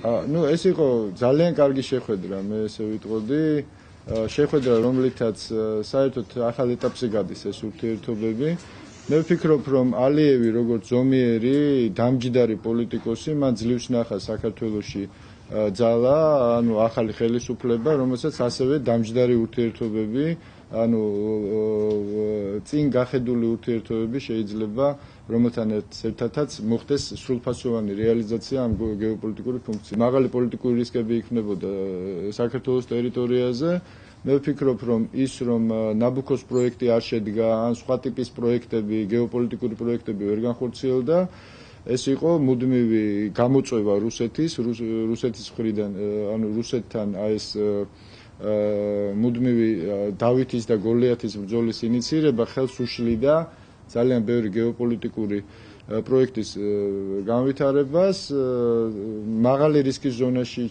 ნუ ეს იყო ძალიან კარგი შეხვედრა, მე ესე ვიტყოდი. შეხვედრა, რომლითაც საერთოდ ახალ ეტაპზე გადის ეს ურთიერთობები. მე ვფიქრობ, რომ ალიევი როგორც ზომიერი, დამჯდარი პოლიტიკოსი, მან ძლივს ნახა საქართველოში ძალა, ანუ ახალი ხელისუფლება, რომელსაც ასევე დამჯდარი ურთიერთობები, ანუ წინ გახედული ურთიერთობები შეიძლება რომელთან ერთადაც მოხდეს სრულფასოვანი რეალიზაცია ამ გეოპოლიტიკური ფუნქციის. მაღალი პოლიტიკური რისკები იქნებოდა საქართველოს ტერიტორიაზე. მე ვფიქრობ, რომ ის რომ ნაბუქოს პროექტი არ შედგა, ან სხვა ტიპის პროექტები, გეოპოლიტიკური პროექტები ვერ განხორციელდა, ეს იყო მუდმივი გამოწვევა რუსეთის მხრიდან, ანუ რუსეთთან ეს მუდმივი დავითის და გოლიათის ბრძოლის ინიცირება ხელს უშლიდა ძალიან ბევრი გეოპოლიტიკური პროექტის განვითარებას. მაღალი რისკის ზონაში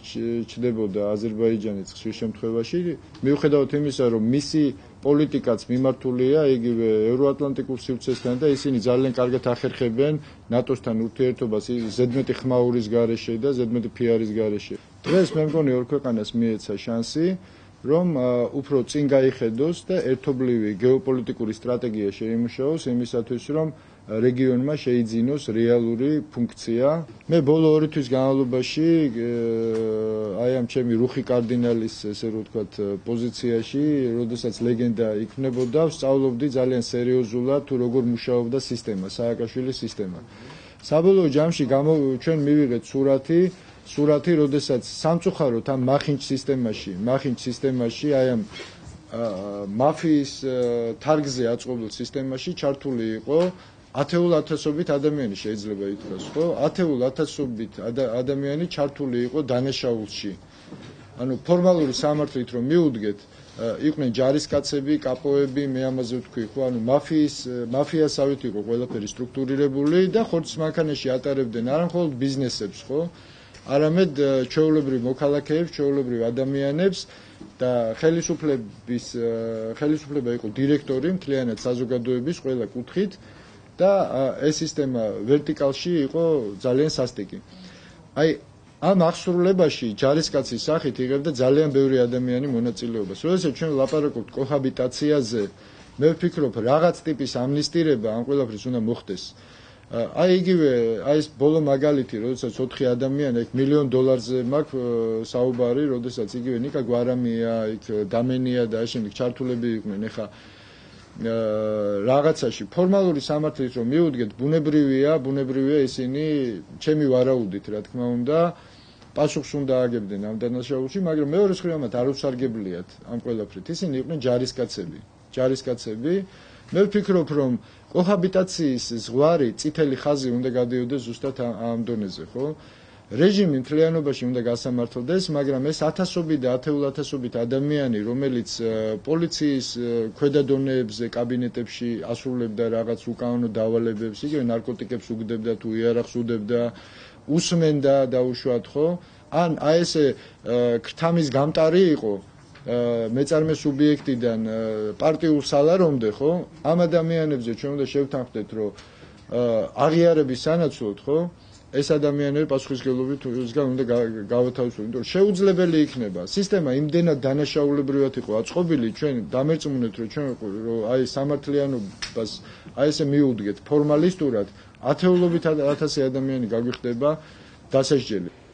ჩნდებოდა აზერბაიჯანიც ხშირ შემთხვევაში, მიუხედავად იმისა, რომ მისი პოლიტიკაც მიმართულია იგივე ევროატლანტიკურ სივრცესთან და ისინი ძალიან კარგად ახერხებენ ნატოსთან ურთიერთობას ზედმეტი ხმაურის გარეშე და ზედმეტი PR-ის გარეშე. დღეს მე მგონი ორ ქვეყანას მიეცა შანსი, რომ უფრო წინ გაიხედოს და ერთობლივი გეოპოლიტიკური სტრატეგია შეიმუშაოს იმისათვის, რომ რეგიონმა შეიძინოს რეალური ფუნქცია. მე ბოლო 2 თვის განმავლობაში აი ამ ჩემი რუხი კარდინალის, ესე რომ ვთქვათ, პოზიციაში, როდესაც ლეგენდა იქნებოდა, ვსწავლობდი ძალიან სერიოზულად თუ როგორ მუშაობდა სისტემა, სააკაშვილის სისტემა. საბოლოო ჯამში ჩვენ მივიღეთ სურათი, როდესაც სამწუხაროდ ამ მახინჯ სისტემაში, აი ამ მაფიის თარგზე აწყობილ სისტემაში ჩართული იყო ათეულათასობით ადამიანი შეიძლება ითქვას, ხო? ათეულათასობით ადამიანი ჩართული იყო დანაშაულში. ანუ ფორმალური სამართლით რომ მიუდგეთ, იყვნენ ჯარისკაცები, კაპოები, მე ამაზე ვთქვი, ხო? ანუ მაფიასავით იყო ყველაფერი სტრუქტურირებული და ხორცის მანქანაში ატარებდნენ არა მხოლოდ ბიზნესებს, ხო? არამედ ჩვეულებრივ მოქალაქეებს, ჩვეულებრივ ადამიანებს და ხელისუფლება იყო დირექტორი მთლიანად საზოგადოების ყველა კუთხით და ეს სისტემა ვერტიკალში იყო ძალიან სასტიკი. აი ამ აღსრულებაში ჯარისკაცის სახით იღებდა ძალიან ბევრი ადამიანი მონაწილეობას. როდესაც ჩვენ ვლაპარაკობთ კოჰაბიტაციაზე, მე ვფიქრობ, რაღაც ტიპის ამნისტირება ამ ყველაფრის უნდა მოხდეს. აი იგივე ეს ბოლო მაგალითი, როდესაც 4 ადამიანი იქ $1 მილიონ მაქვს საუბარი, როდესაც იგივე ნიკა გვარამია, იქ დამენია და შემდეგ ჩართულები იყვნენ. ეხა რაღაცაში ფორმალური სამართლით რომ მიუდგეთ, ბუნებრივია ისინი ჩემი ვარაუდით, რა თქმა უნდა, პასუხს უნდა აგებდნენ ამ დანაშაულში, მაგრამ მეორე მხრივ არ უსარგებლიათ ამ ყველაფრით. ისინი იყვნენ ჯარისკაცები. მე ვფიქრობ, რომ კოჰაბიტაციის ზღვარი, წითელი ხაზი უნდა გადიოდეს ზუსტად ამ დონეზე, ხო? რეჟიმი მთლიანობაში უნდა გასამართლდეს, მაგრამ ეს ათასობით და ათეულათასობით ადამიანი, რომელიც პოლიციის ქვედა დონეებზე, კაბინეტებში ასრულებდა რაღაც უკანონო დავალებებს, იგივე ნარკოტიკებს უგდებდა თუ იარაღს უდებდა, უსმენდა დაუშვათ, ხო? ან აი ესე ქრთამის გამტარი იყო მეწარმე სუბიექტიდან პარტიულ სალარომდე, ხო? ამ ადამიანებზე ჩვენ უნდა შევთანხმდეთ, რომ აღიარების სანაცვლოდ, ხო? ეს ადამიანები პასუხისმგებლობისგან უნდა გავათავისუფლოთ, იმიტომ რომ შეუძლებელი იქნება. სისტემა იმდენად დანაშაულებრივად იყო აწყობილი, ჩვენ დამერწმუნეთ, რომ ჩვენ აი სამართლიანობას აი ესე მიუდგეთ ფორმალისტურად, ათეულობით ათასი ადამიანი გაგვიხდება დასაჯელი.